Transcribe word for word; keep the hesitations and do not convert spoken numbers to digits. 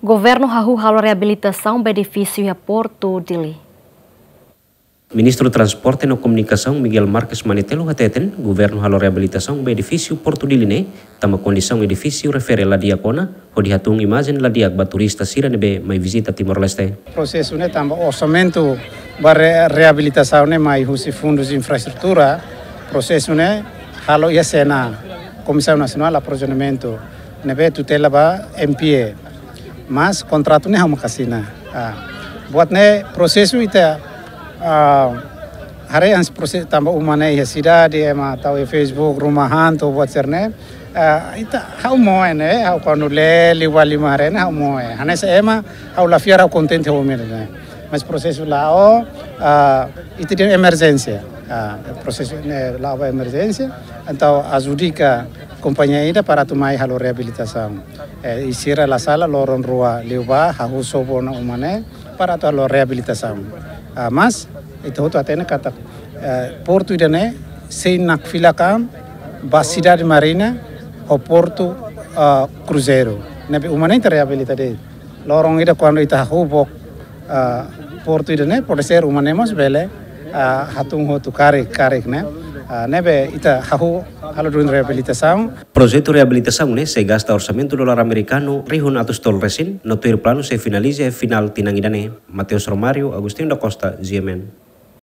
Governu hahú halo reabilitasaun ba edifísiu iha Portu Dili. Ministru Transporte no Komunikasaun Miguel Marques Manetelu hateten, governu halo reabilitasaun ba edifísiu Portu Dili ne'e, tanba kondisaun edifísiu refere la di'ak ona, hodi hatún imajen la di'ak ba turista sira ne'ebé mai vizita Timor-Leste. Prosesu ne'e tanba orsamentu ba re-, reabilitasaun ne'e mai husi fundus infraestrutura, prosesu ne'e halo iha C N A, Komisaun Nasionál Aprovizionamentu, ne'ebé tutela ba M P A. Mas kontratu ne'e ha'u mak asina. Ah, buat ne'e prosesu ita, ah, haree hanesan prosesu tanba uma ne'e iha sidade, ema tau iha Facebook, rumah hantu, buat sira-ne'e. Ah, ita ha'u moe ne'e, ha'u kuandu lee liu ba liman haree ne'e ha'u moe. Hanesan ema, ha'u la fiar, ha'u kontente ho ema ne'e. Mas prosesu la'o, ah, ita iha emerjénsia. Ah, prosesu ne'e la'o ba emerjénsia. Entaun adjudika kompañia ida para atu mai halo reabilitasaun. Eh, i sira la sala loron rua liubá hahú sobu ona uma ne'e para atu halo reabilitasaun. Ah, mas ita hotu hatene katak, eh, portu ida-ne'e sei nakfilak an ba sidade Marina ho portu, ah, kruzeiru. Ne'ebé uma ne'e ita reabilita de'it. Loron ida kuandu ita hahú book, ah, portu ida-ne'e, pode ser uma ne'e mós bele, ah, hatún hotu karik, karik ne'e. Ah, ne'ebé ita hahú halo duni reabilitasaun. Projetu reabilitasaun ne'e sei gasta orsamentu dolar amerikanu rihun atus tolu resin, no tuir planu sei finaliza iha finál tinan ida-ne'e. Mateus Romário, Agostinho da Costa, G M N.